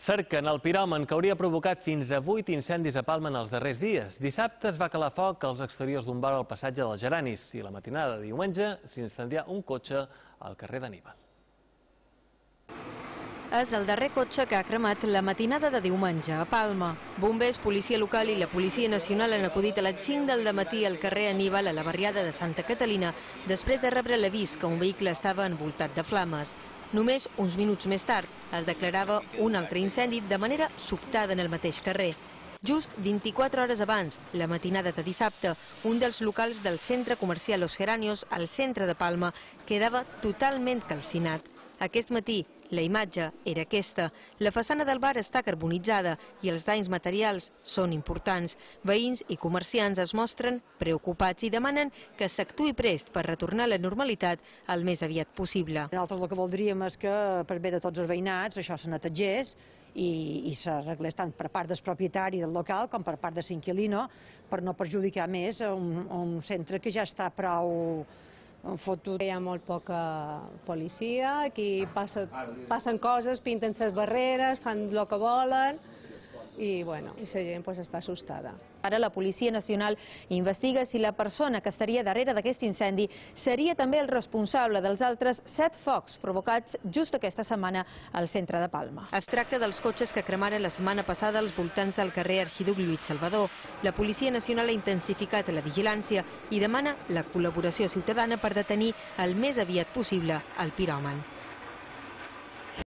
Cerquen el piròman que hauria provocat fins a 8 incendis a Palma en els darrers dies. Dissabte es va calar foc als exteriors d'un bar al passatge dels Geranis i la matinada de diumenge s'incendià un cotxe al carrer d'Anníbal. És el darrer cotxe que ha cremat la matinada de diumenge a Palma. Bombers, policia local i la Policia Nacional han acudit a les 5 del matí al carrer Anníbal, a la barriada de Santa Catalina, després de rebre l'avís que un vehicle estava envoltat de flames. Només uns minuts més tard es declarava un altre incendi de manera sobtada en el mateix carrer. Just 24 hores abans, la matinada de dissabte, un dels locals del centre comercial Los Geranios, al centre de Palma, quedava totalment calcinat. Aquest matí, la imatge era aquesta. La façana del bar està carbonitzada i els danys materials són importants. Veïns i comerciants es mostren preocupats i demanen que s'actuï prest per retornar a la normalitat el més aviat possible. Nosaltres el que voldríem és que, per bé de tots els veïnats, això se netegés i s'arreglés tant per part del propietari del local com per part de l'inquilino, per no perjudicar més un centre que ja està prou fotut. Hi ha molt poca policia, aquí passen coses, pinten les barreres, fan el que volen i la gent està assustada. Ara la Policia Nacional investiga si la persona que estaria darrere d'aquest incendi seria també el responsable dels altres 7 focs provocats just aquesta setmana al centre de Palma. Es tracta dels cotxes que cremaren la setmana passada als voltants del carrer Arxiduc Lluís Salvador. La Policia Nacional ha intensificat la vigilància i demana la col·laboració ciutadana per detenir el més aviat possible el piròman.